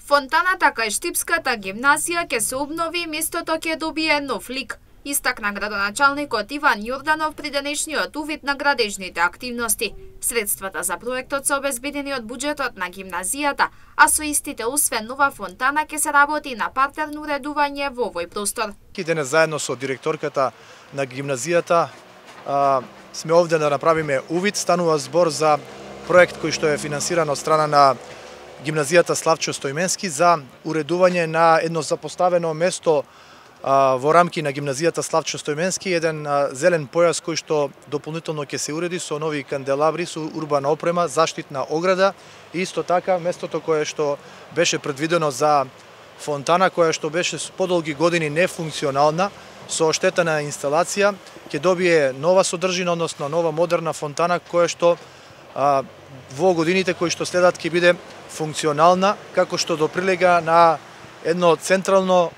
Фонтаната кај Штипската гимназија ќе се обнови и местото ќе добие нов лик, истакна градоначалникот Иван Јорданов при денешниот увид на градежните активности. Средствата за проектот се обезбедени од буџетот на гимназијата, а со истите освен нова фонтана ќе се работи на партерно уредување во овој простор. Денес заедно со директорката на гимназијата сме овде да направиме увид. Станува збор за проект кој што е финансиран од страна на гимназијата Славчо Стојменски за уредување на едно запоставено место во рамки на гимназијата Славчо Стојменски, еден зелен појас кој што дополнително ќе се уреди со нови канделабри, со урбана опрема, заштитна ограда и исто така местото кое што беше предвидено за фонтана, која што беше подолги години нефункционална, со оштетена инсталација, ќе добие нова содржина, односно нова модерна фонтана која што во годините кои што следат ќе биде функционална, како што доприлега на едно централно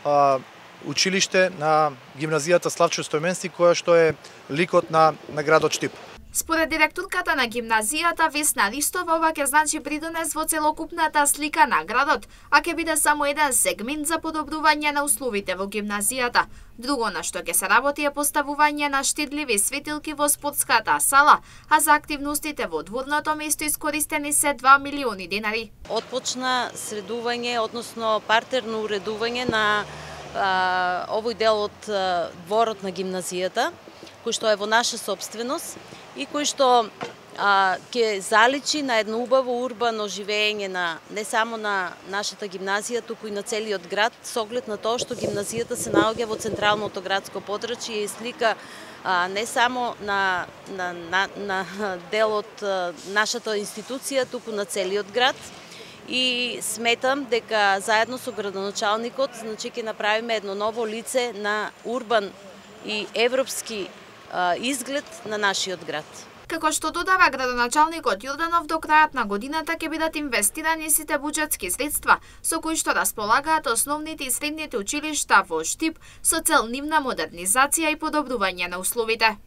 училиште на гимназијата Славчо Стојменски, која што е ликот на градот Штип. Според директорката на гимназијата Весна Ристова, ова ќе значи придонес во целокупната слика на градот, а ќе биде само еден сегмент за подобрување на условите во гимназијата. Друго на што ќе се работи е поставување на штедливи светилки во спортската сала, а за активностите во дворното место искористени се 2 милиони денари. Отпочна средување, односно партерно уредување на овој дел од дворот на гимназијата, кој што е во наша собственост и кој што ќе заличи на едно убаво урбано живење не само на нашата гимназија, туку и на целиот град, со оглед на тоа што гимназијата се наоѓа во централното градско подрачје и слика не само на дел од нашата институција, туку на целиот град. И сметам дека заедно со градоначалникот ќе направиме едно ново лице на урбан и европски изглед на нашиот град. Како што додава градоначалникот Јорданов, до крајот на годината ќе бидат инвестирани сите буџетски средства со кои што располагаат основните и средните училишта во Штип со цел нивна модернизација и подобрување на условите.